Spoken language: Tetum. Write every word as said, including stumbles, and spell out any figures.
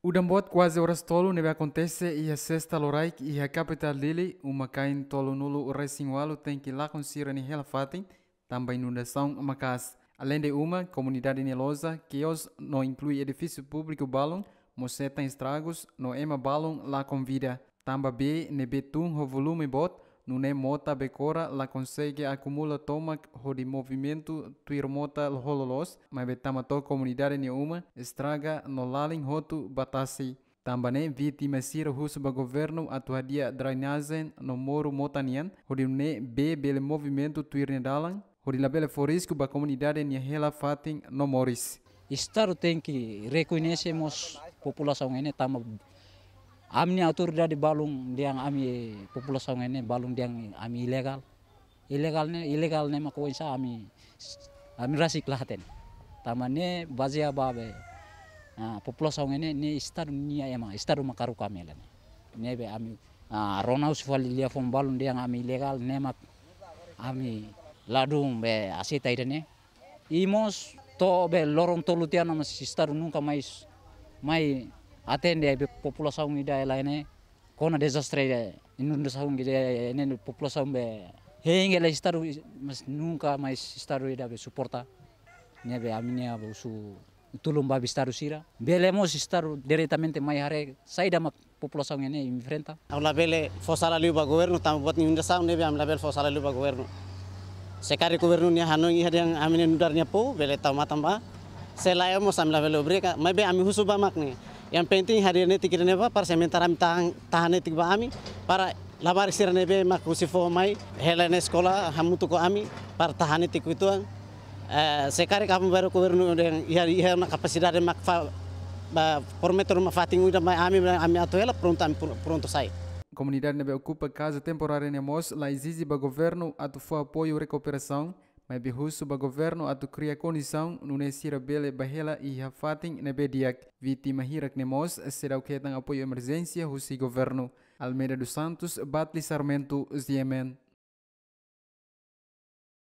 Udan boot kuaze oras tolu ne'ebé akontese iha sesta loraik iha kapitál Dili, uma-kain tolunulu-resin-ualu tenke lakon sira-nia hela-fatin tanba inundasaun maka'as. Aleinde uma, komunidade nia loja, kios no inklui edifísiu públiku balun mós hetan estragus no ema balun lakon vida. Tanba bee ne'ebé tun ho volume boot, nune'e mota bekora la konsege akumula tomak hodi movimentu tuir mota ho loloos, maibé tama to'o komunidade nia uma, estraga no lalin hotu ba tasi. Tanba ne'e vítima sira husu ba governu atu hadi'a drenajen no moru mota nian, hodi nune'e bee bele movimentu tuir nia dalan, hodi labele fó risku ba komunidade nia hela-fatin no moris. Estadu tenke rekoñese mós populasaun ne'e tanba ami-nia autoridade balun dehan ami populasaun ne'e balun dehan ami ilegál. Ilegál ne'e, ilegál ne'e mak oinsá ami, ami rasik la hatene. Tanba ne'e bazeia ba be, ah, populasaun ne'e, ne'e estadu nia ema, estadu mak haruka ami hela ne'e. Ne'ebé ami, ah, rona husi fali liafuan balun dehan ami ilegál ne'e mak ami ladún be aseita ida-ne'e. I mós to'o be loron tolu tiha ona mós estadu nunka mais mai atende be populasaun ida hela ne'e. Kona dezastre inundasaun ida ne'e populasaun be hein hela estadu, mas nunka mais estadu ida be suporta. Ne'ebé ami-nia be husu tulun ba estadu sira. Bele mós estadu diretamente mai haree saida mak populasaun ne'e enfrenta. Ami labele fó sala liu ba governu, tanba buat inundasaun ne'ebé ami labele fó sala liu ba governu. Se karik governu nia hanoin iha dehan ami-nia nu'udar nia povu, bele tau matan ba. Se lae mós ami labele obriga, maibé ami husu ba mak ne'e. Yang penting hadir netik ida-ne'e ba, para sementara ami tahan, tahan netik ba ami, para labarik sira ne'ebé mak husi foho mai, hela ne'e eskola, hamutuk ho ami, para tahan netik uitoan. Eh, se karik ami baru governu dehan iha, iha ona kapasidade mak fa, ba, prometu ruma fatin ida mai ami, ami atu hela, prontu ami pr-, prontu sai. Komunidade ne'ebé okupa kaza temporária ne'e mós la ezije ba governu atu fó apoiu rekuperasaun, maibé husu ba governu atu kria kondisaun nune'e sira bele bá hela iha fatin ne'ebé di'ak. Vítima hirak ne'e mós seidauk hetan apoiu emerjénsia husi governu. Almeida dos Santos, Batli Sarmento, G M N.